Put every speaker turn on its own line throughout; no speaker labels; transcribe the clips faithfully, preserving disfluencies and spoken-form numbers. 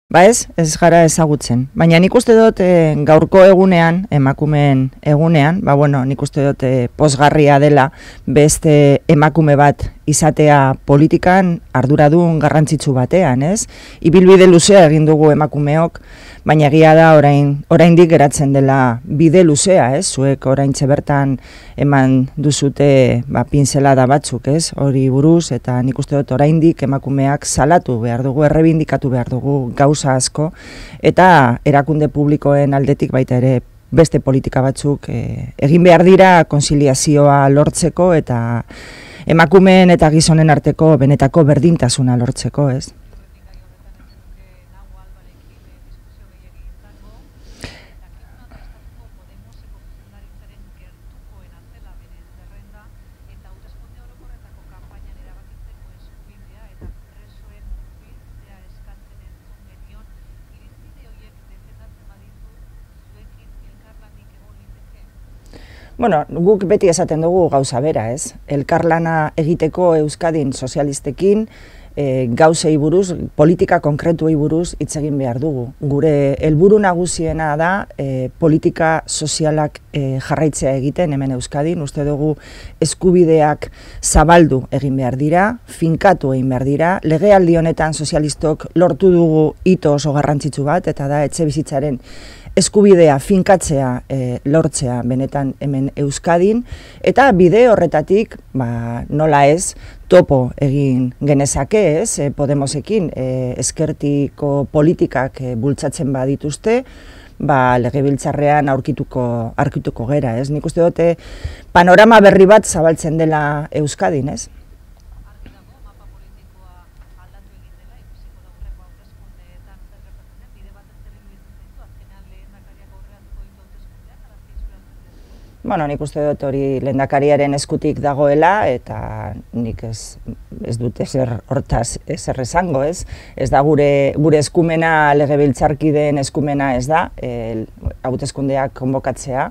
Ba ez, ez gara ezagutzen. Baina nik uste dut e, gaurko egunean, emakumeen egunean, ba bueno, nik uste dut e, pozgarria dela beste emakume bat izatea politikan arduradun garrantzitsu batean, ez? Ibilbide luzea egin dugu emakumeok, baina egia da orain oraindik geratzen dela bide luzea, ez? Zuek oraintxe bertan eman duzute ba pintzelada batzuk, ez? Hori buruz eta nik uste dut oraindik emakumeak salatu behar dugu, errebindikatu behar dugu gauza asko eta erakunde publikoen aldetik baita ere beste politika batzuk e, egin behar dira konziliazioa lortzeko eta emakumeen eta gizonen arteko benetako berdintasuna lortzeko, ez? Bueno, guk beti esaten dugu gauza bera, ez? Elkarlana egiteko Euskadin sozialistekin e, gauzei buruz, politika konkretuei buruz hitz egin behar dugu. Gure helburu nagusiena da e, politika sozialak e, jarraitzea egiten hemen Euskadin. Uste dugu eskubideak zabaldu egin behar dira, finkatu egin behar dira. Legealdi honetan sozialistok lortu dugu hito oso garrantzitsu bat, eta da etxe bizitzaren eskubidea finkatzea e, lortzea benetan hemen Euskadin, eta bide horretatik, ba, nola ez, topo egin genezake, ez, e, Podemosekin e, ezkertiko politikak e, bultzatzen badituzte, ba, legebiltzarrean aurkituko, aurkituko gera, ez. Nik uste dute panorama berri bat zabaltzen dela Euskadin, ez. Bueno, nik uste dut hori lehendakariaren eskutik dagoela eta nik ez, ez dut ezer hortaz ezer esango, ez? Ez da gure, gure eskumena, legebiltzarkideen eskumena ez da, e, hauteskundeak konbokatzea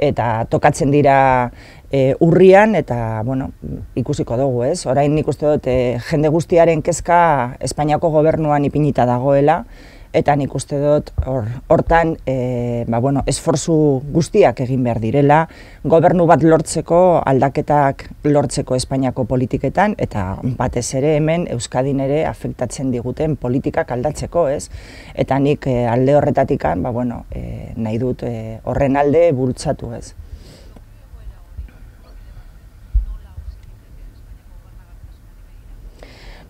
eta tokatzen dira e, urrian eta, bueno, ikusiko dugu, ez? Orain nik uste dut e, jende guztiaren kezka Espainiako gobernuan ipinita dagoela, eta nik uste dut hortan e, ba, bueno, esfortzu guztiak egin behar direla, gobernu bat lortzeko, aldaketak lortzeko Espainiako politiketan, eta batez ere hemen Euskadin ere afektatzen diguten politikak aldatzeko, ez? Eta nik e, alde horretatikan, ba, bueno, e, nahi dut e, horren alde bultzatu, ez?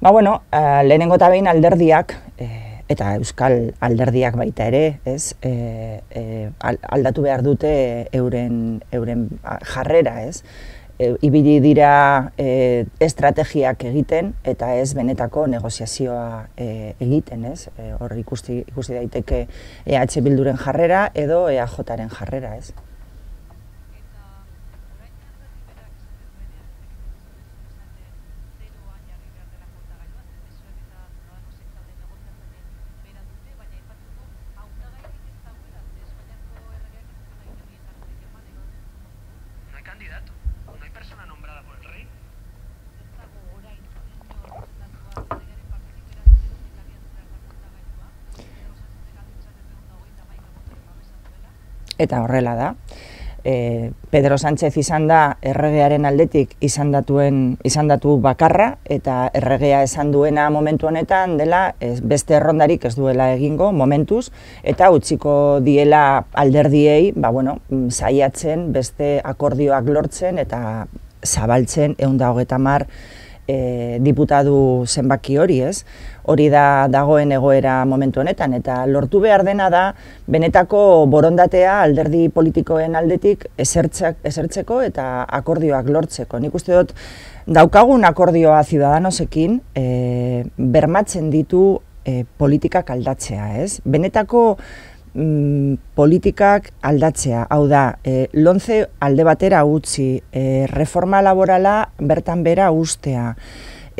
Ba, bueno, uh, lehenengo eta behin alderdiak, eh, eta euskal alderdiak baita ere, ez, e, e, aldatu behar dute euren, euren jarrera, ez. E, ibili dira e, estrategiak egiten eta ez benetako negoziazioa e, egiten, ez. E, hor ikusi, ikusi daiteke E H Bilduren jarrera edo E A Jaren jarrera, ez.
Candidato, no hay persona nombrada por el rey.
Eta horrela da. E, Pedro Sánchez izan da erregearen aldetik izandatuen izandatu bakarra eta erregea esan duena momentu honetan dela ez, beste errondarik ez duela egingo momentuz eta utziko diela alderdiei, ba bueno, saiatzen beste akordioak lortzen eta zabaltzen ehun eta hogeita hamar e, diputatu zenbaki hori, ez? Hori da dagoen egoera momentu honetan, eta lortu behar dena da benetako borondatea alderdi politikoen aldetik esertzek, esertzeko eta akordioak lortzeko. Nik uste dut daukagun akordioa Ciudadanosekin e, bermatzen ditu e, politikak aldatzea, ez? Benetako mm, politikak aldatzea, hau da, e, lomce alde batera utzi, e, reforma laborala bertan bera ustea,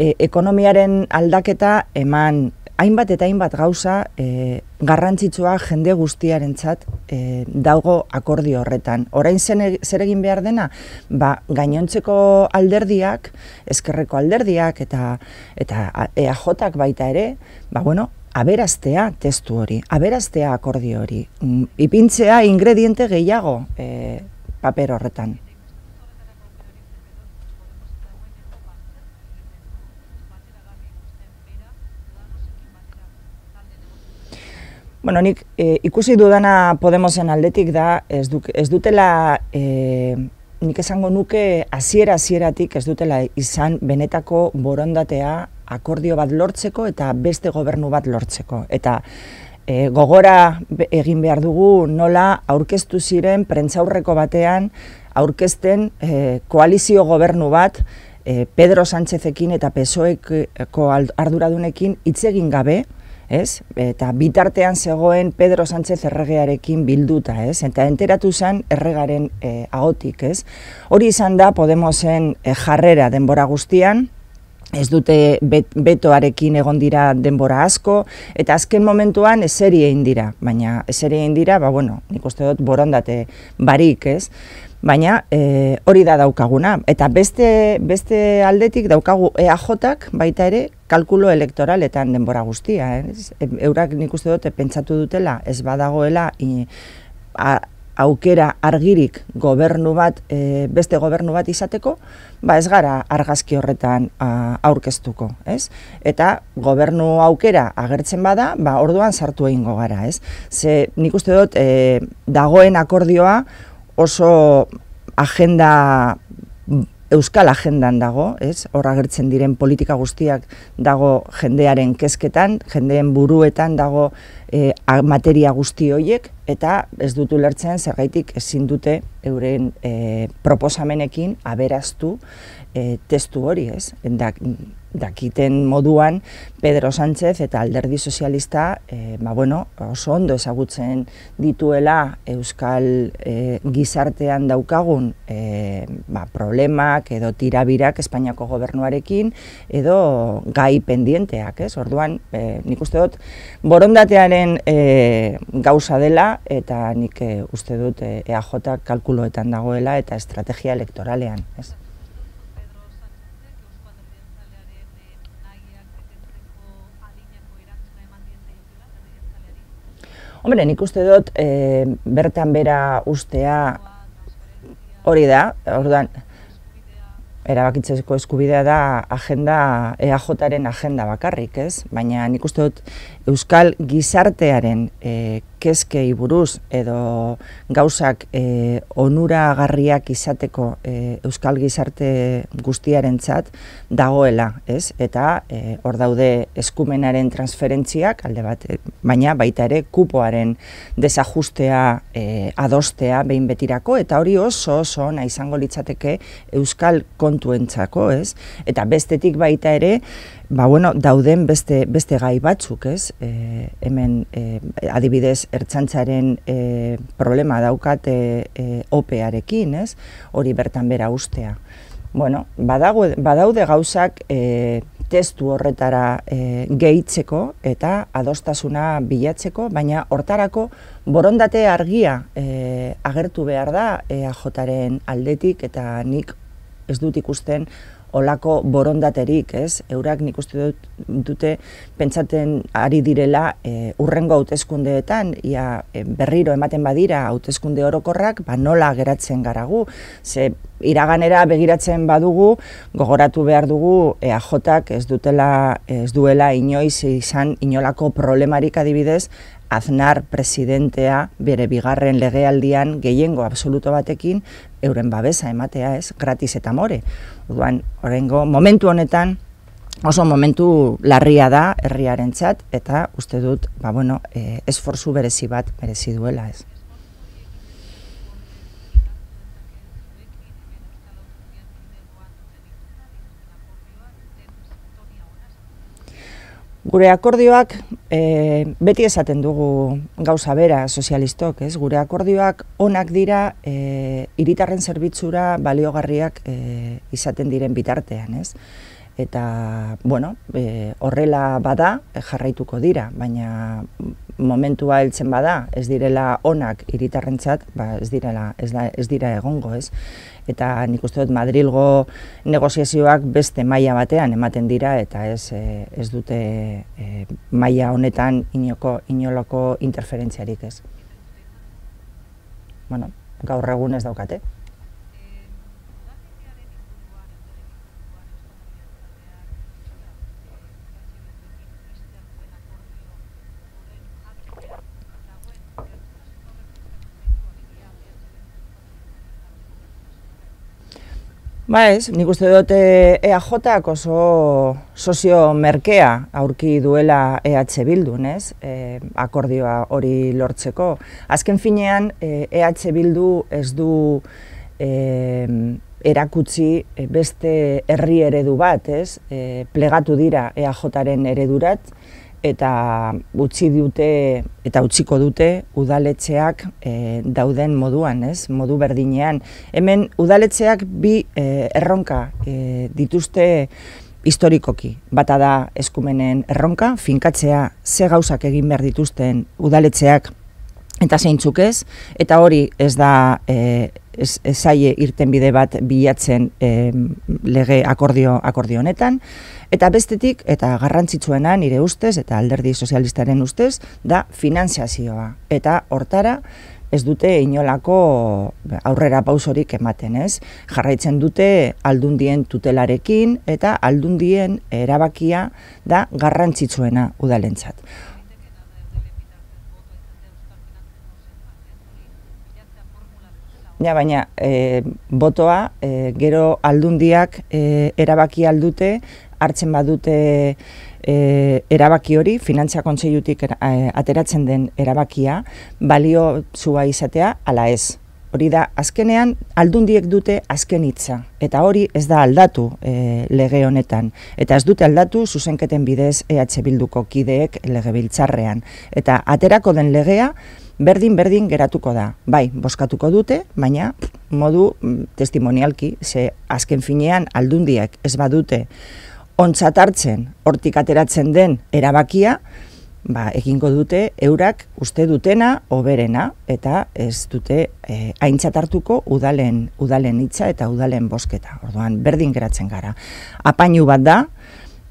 E, ekonomiaren aldaketa eman, hainbat eta hainbat gauza e, garrantzitsua jende guztiarentzat e, dago akordio horretan. Orain zer egin behar dena? Ba, gainontzeko alderdiak, ezkerreko alderdiak eta eta E A Jak baita ere, ba, bueno, aberastea testu hori, aberastea akordio hori, ipintzea ingrediente gehiago e, paper horretan. Bueno, nik e, ikusi dudana Podemosen aldetik da, ez, du, ez dutela, e, nik esango nuke hasiera hasieratik ez dutela izan benetako borondatea akordio bat lortzeko eta beste gobernu bat lortzeko. Eta e, gogora egin behar dugu nola aurkeztu ziren prentsaurreko batean aurkezten e, koalizio gobernu bat e, Pedro Sánchezekin eta P S O Eko arduradunekin hitz egin gabe, ez? Eta bitartean zegoen Pedro Sánchez erregearekin bilduta, ez? Eta enteratu zen erregaren e, ahotik, ez? Hori izan da Podemosen e, jarrera denbora guztian, ez dute bet, betoarekin egon dira denbora asko, eta azken momentuan eseri egin dira, baina eseri egin dira, ba bueno, nik uste dut borondate barik, ez? Baina e, hori da daukaguna, eta beste, beste aldetik daukagu E A Jak baita ere kalkulo elektoraletan denbora guztia. Eh? Eurak nik uste dut pentsatu dutela ez badagoela i, a, aukera argirik gobernu bat, e, beste gobernu bat izateko, ba ez gara argazki horretan a, aurkeztuko, ez? Eta gobernu aukera agertzen bada, ba orduan sartu egingo gara, ez? Ze nik uste dut e, dagoen akordioa oso agenda, euskal agendan dago, ez? Hor agertzen diren politika guztiak dago jendearen kezketan, jendeen buruetan dago e, materia guzti horiek, eta ez dut ulertzen zergaitik ezin dute euren e, proposamenekin aberaztu e, testu hori, ez? Dak, dakiten moduan Pedro Sánchez eta Alderdi Sozialista e, ba, bueno, oso ondo ezagutzen dituela euskal e, gizartean daukagun e, ba, problemak edo tirabirak Espainiako gobernuarekin edo gai pendienteak, ez? Orduan, e, nik uste dut borondatearen e, gauza dela eta nik e, uste dut E A Jak kalkuloetan dagoela eta estrategia elektoralean, ez? Hombre, nik uste dut e, bertan bera ustea hori da, orduan, erabakitzeko eskubidea da agenda, E A Jaren agenda bakarrik, ez? Baina nik uste dut euskal gizartearen e, kezkei buruz edo gauzak e, onuragarriak izateko e, euskal gizarte guztiarentzat dagoela, ez? Eta e, hor daude eskumenaren transferentziak alde bat, e, baina baita ere kupoaren desajustea e, adostea behin betirako, eta hori oso oso ona izango litzateke euskal kontuentzako, ez? Eta bestetik baita ere, ba bueno, dauden beste, beste gai batzuk, ez? E, hemen e, adibidez ertzaintzaren e, problema daukate e, opearekin, ez? Hori bertan bera ustea. Bueno, badago, badaude gauzak e, testu horretara e, gehitzeko eta adostasuna bilatzeko, baina hortarako borondate argia e, agertu behar da E A Jaren aldetik, eta nik ez dut ikusten olako borondaterik, ez? Eurak nik uste dut, dute pentsaten ari direla e, urrengo hauteskundeetan, ia e, berriro ematen badira hauteskunde orokorrak, ba nola geratzen garagu. Ze iraganera begiratzen badugu, gogoratu behar dugu E A Jak ez dutela, ez duela inoiz izan inolako problemarik adibidez, Aznar presidentea bere bigarren legealdian gehiengo absoluto batekin euren babesa ematea, ez, gratis eta more. Orduan, oraingo momentu honetan oso momentu larria da herriarentzat, eta uste dut, ba bueno, e, esfortzu berezi bat merezi duela, ez. Gure akordioak, e, beti esaten dugu gauza bera sozialistok, ez? Gure akordioak onak dira e, hiritarren zerbitzura baliogarriak e, izaten diren bitartean, ez? Eta, bueno, e, horrela bada jarraituko dira, baina momentua heltzen bada, ez direla onak hiritarrentzat, ba ez direla, ez da, ez dira egongo, ez? Eta nik uste dut Madrilgo negoziazioak beste maila batean ematen dira eta ez e, ez dute e, maila honetan inoko inolako interferentziarik, ez? Bueno, gaur egun ez daukate. Ba ez, nik uste dut E A Jak oso sozio merkea aurki duela E H Bildun, ez? E, akordioa hori lortzeko. Azken finean, E H Bildu ez du e, erakutsi beste herri eredu bat, ez? E, plegatu dira E A Jaren eredurat, eta utzi dute eta utziko dute udaletxeak e, dauden moduan, ez? Modu berdinean. Hemen udaletxeak bi e, erronka e, dituzte historikoki. Bata da eskumenen erronka, finkatzea ze gauzak egin behar dituzten udaletxeak eta zeintzuk ez, eta hori ez da e, ez, ez zaie irtenbide bat bilatzen e, lege akordio, akordio honetan, eta bestetik, eta garrantzitsuena nire ustez, eta alderdi sozialistaren ustez, da finanziazioa. Eta hortara ez dute inolako aurrera pausorik ematen, ez? Jarraitzen dute aldundien tutelarekin, eta aldundien erabakia da garrantzitsuena udalentzat. Ja, baina e, botoa e, gero aldundiak e, erabaki aldute, hartzen badute e, erabaki hori, Finantza Kontseilutik e, ateratzen den erabakia, balio zua izatea, ala ez. Hori da, azkenean aldundiek dute azken hitza, eta hori ez da aldatu e, lege honetan. Eta ez dute aldatu zuzenketen bidez E H Bilduko kideek legebiltzarrean. Eta aterako den legea, berdin-berdin geratuko da. Bai, bozkatuko dute, baina modu testimonialki, ze azken finean aldundiak ez badute ontzat hartzen, hortik ateratzen den erabakia, ba, egingo dute eurak uste dutena hoberena, eta ez dute e, aintzat hartuko udalen, udalen hitza eta udalen bozketa. Orduan, berdin geratzen gara. Apainu bat da,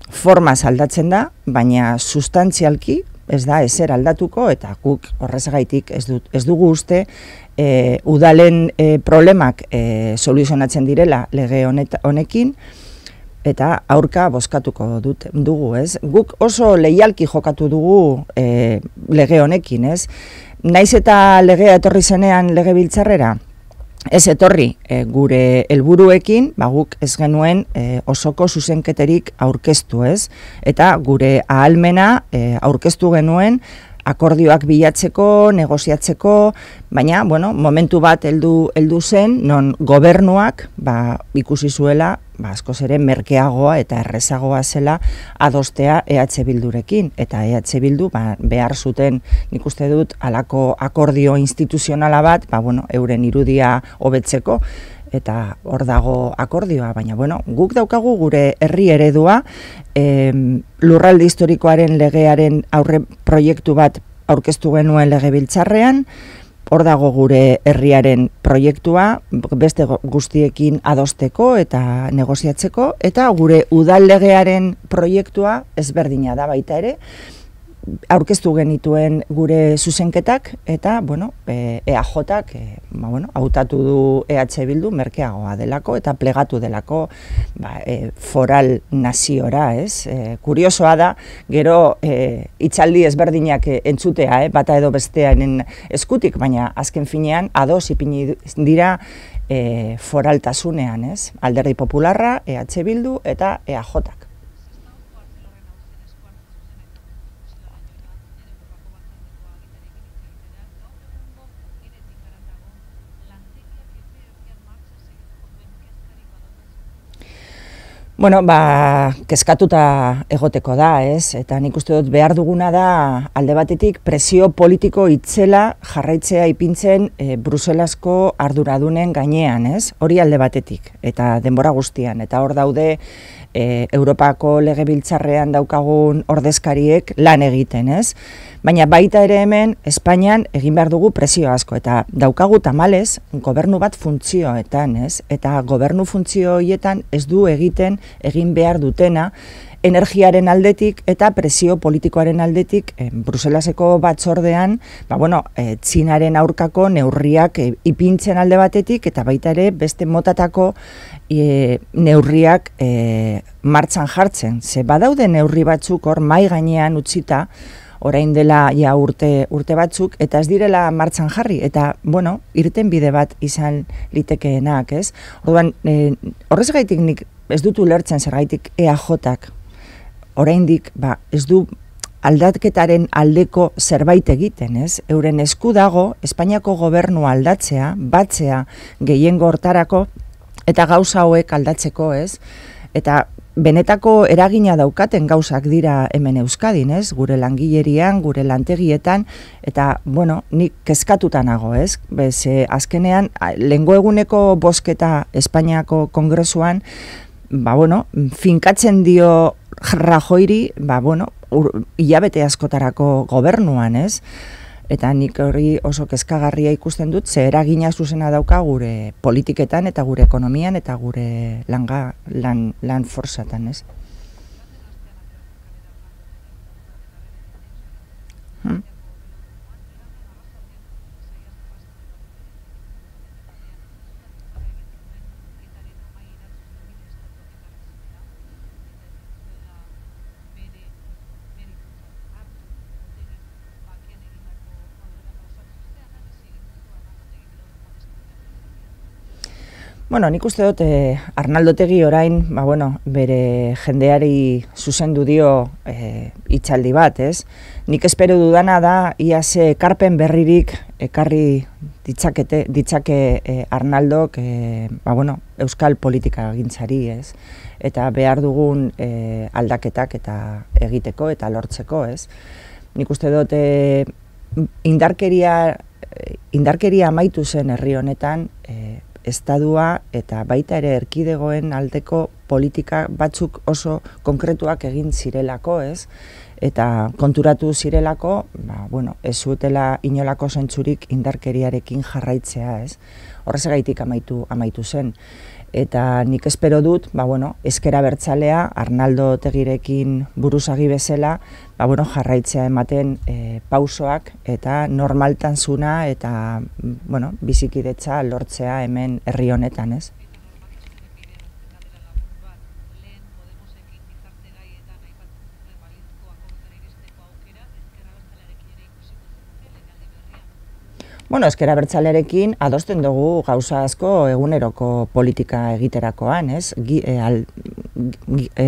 formaz aldatzen da, baina sustantzialki, ez da ezer aldatuko, eta guk horrezagaitik ez, dut, ez dugu uste e, udalen e, problemak e, soluzionatzen direla lege honet, honekin, eta aurka bozkatuko dut, dugu, ez? Guk oso leialki jokatu dugu e, lege honekin, ez? Naiz eta legea etorri zenean legebiltzarrera, ez etorri e, gure helburuekin, ba guk ez genuen e, osoko zuzenketerik aurkeztu, ez? Eta gure ahalmena e, aurkeztu genuen akordioak bilatzeko, negoziatzeko, baina, bueno, momentu bat heldu heldu zen, non gobernuak ba, ikusi zuela, ba, askoz ere merkeagoa eta errezagoa zela adostea E H Bildurekin, eta E H Bildu ba, behar zuten, nik uste dut, halako akordio instituzionala bat, ba, bueno, euren irudia hobetzeko, eta hor dago akordioa, baina bueno, guk daukagu gure herri eredua, e, lurralde historikoaren legearen aurre proiektu bat aurkeztu genuen legebiltzarrean, hor dago gure herriaren proiektua, beste guztiekin adosteko eta negoziatzeko, eta gure udal legearen proiektua ezberdina da baita ere, aurkeztu genituen gure zuzenketak, eta, bueno, E A Jak, e, ba, bueno, hautatu du E H Bildu merkeagoa delako, eta plegatu delako ba, e, foral naziora, ez? E, kuriosoa da, gero e, hitzaldi ezberdinak entzutea, eh, bata edo bestearen eskutik, baina azken finean ados ipini dira e, foraltasunean, ez? Alderdi Popularra, E H Bildu eta E A Jak. Bueno, ba, kezkatuta egoteko da, ez? Eta nik uste dut behar duguna da alde batetik presio politiko itzela jarraitzea ipintzen e, Bruselasko arduradunen gainean, ez? Hori alde batetik, eta denbora guztian. Eta hor daude e, Europako legebiltzarrean daukagun ordezkariek lan egiten, ez? Baina baita ere hemen, Espainian egin behar dugu presio asko, eta daukagu tamalez, gobernu bat funtzioetan, ez? Eta gobernu funtzio horietan ez du egiten egin behar dutena, energiaren aldetik eta presio politikoaren aldetik eh, Bruselaseko batzordean, ba, bueno, eh, Txinaren aurkako neurriak eh, ipintzen alde batetik eta baita ere beste motatako eh, neurriak eh, martxan jartzen. Ze badaude neurri batzuk hor mai gainean utzita, orain dela ja urte, urte batzuk, eta ez direla martxan jarri, eta, bueno, irten bide bat izan litekeenak, ez? Orduan, eh, horrez gaitik nik ez dut ulertzen zergaitik E A Jak oraindik ba, ez du aldaketaren aldeko zerbait egiten, ez? Euren esku dago Espainiako gobernua aldatzea, batzea gehiengo hortarako eta gauza hauek aldatzeko, ez? Eta benetako eragina daukaten gauzak dira hemen Euskadin, ez? Gure langilerian, gure lantegietan, eta, bueno, nik kezkatuta nago, ez? Bez, eh, azkenean, lehengo eguneko bozketa Espainiako Kongresuan, ba, bueno, finkatzen dio Rajoiri, ba, bueno, ur, hilabete askotarako gobernuan, ez? Eta nik hori oso kezkagarria ikusten dut, ze eragina zuzena dauka gure politiketan eta gure ekonomian eta gure langa, lan, lan forzatan, ez? Hmm. Bueno, nik uste dut eh, Arnaldo Otegi orain, ba, bueno, bere jendeari zuzendu dio eh, hitzaldi bat, ez? Nik espero dudana da ia ze ekarpen berririk ekarri ditzakete, ditzake eh, Arnaldok eh, ba, bueno, euskal politika gintzari, ez? Eta behar dugun eh, aldaketak eta egiteko eta lortzeko, ez? Nik uste dut eh, indarkeria, indarkeria amaitu zen herri honetan, eh, estadua eta baita ere erkidegoen aldeko politika batzuk oso konkretuak egin zirelako, ez? Eta konturatu zirelako, ba, bueno, ez zutela inolako zentzurik indarkeriarekin jarraitzea, ez? Horrezagaitik amaitu, amaitu zen. Eta nik espero dut, ba, bueno, ezker abertzalea, Arnaldo Otegirekin buruzagi bezala, ba, bueno, jarraitzea ematen e, pausoak eta normaltasuna eta, bueno, bizikidetza lortzea hemen herri honetan, ez? Bueno, ezker abertzalearekin adosten dugu gauza asko eguneroko politika egiterakoan, ez? Gi, e, al, gi, e,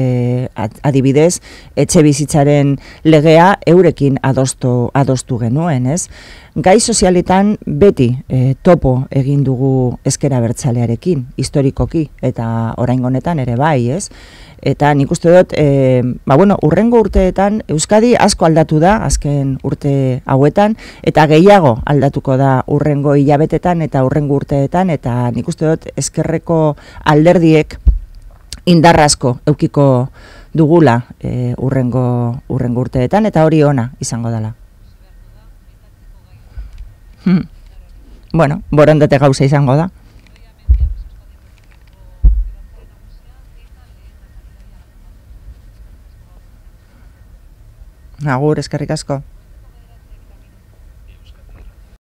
adibidez, etxe bizitzaren legea eurekin adostu, adostu genuen, ez? Gai sozialetan beti e, topo egin dugu ezker abertzalearekin, historikoki, eta oraingo honetan ere bai, ez? Eta nik uste dut, e, ba, bueno, urrengo urteetan Euskadi asko aldatu da, azken urte hauetan, eta gehiago aldatuko da urrengo hilabetetan eta urrengo urteetan, eta nik uste dut ezkerreko alderdiek indarrasko eukiko dugula e, urrengo, urrengo urteetan, eta hori ona izango dela. Hmm. Bueno, borondate gauza izango da. Agur, eskerrik asko.